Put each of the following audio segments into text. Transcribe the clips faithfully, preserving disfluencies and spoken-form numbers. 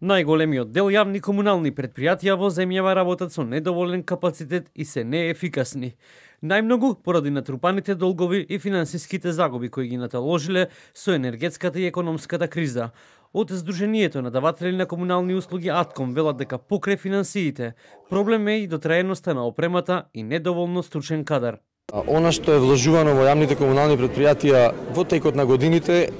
Најголемиот дел јавни комунални предпријатија во земјава работат со недоволен капацитет и се неефикасни. Најмногу поради натрупаните долгови и финансиските загуби кои ги наталожиле со енергетската и економската криза. Од Сдруженијето на даватели на комунални услуги Атком велат дека покрај финансиите, проблем е и дотраеноста на опремата и недоволно стручен кадар. Она што е вложувано во јавните комунални предпријатија во текот на годините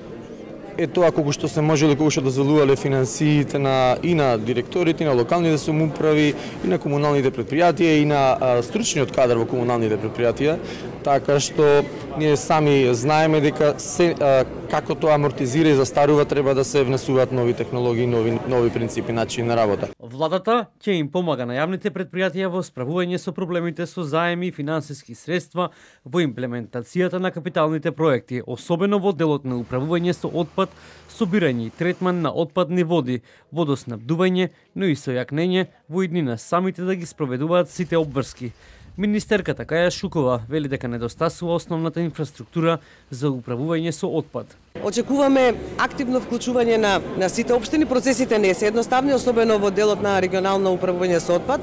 е тоа колку што се можеле, колку што дозволувале финансиите на и на директорите, и на локалните самоуправи, и на комуналните предпријатија, и на а, стручниот кадар во комуналните предпријатија, така што ние сами знаеме дека се, а, како тоа амортизира и застарува, треба да се внесуваат нови технологии, нови нови принципи, начини на работа. Владата ќе им помага на јавните предпријатија во справување со проблемите со заеми и финансиски средства во имплементацијата на капиталните проекти, особено во делот на управување со отпад, собирање и третман на отпадни води, водоснабдување, но и сојакнење во иднина самите да ги спроведуваат сите обврски. Министерката Каја Шукова вели дека недостасува основната инфраструктура за управување со отпад. Очекуваме активно вклучување на, на сите општини. Процесите не се едноставни, особено во делот на регионално управување со отпад.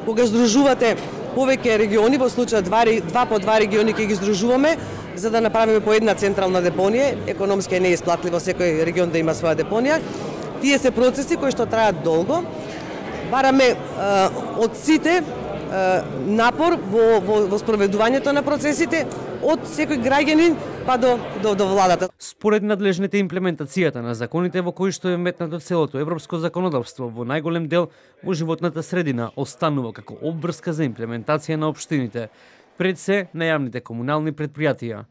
Кога здружувате повеќе региони, во случај два, два по два региони ќе ги здружуваме, за да направиме по една централна депонија. Економски не е исплатливо секој регион да има своја депонија. Тие се процеси кои што траат долго. Бараме а, од сите напор во, во, во спроведувањето на процесите од секој граѓанин па до, до, до владата. Според надлежните, имплементацијата на законите во кои што е метнато целото европско законодавство во најголем дел во животната средина останува како обврска за имплементација на општините, пред се на јавните комунални предпријатија.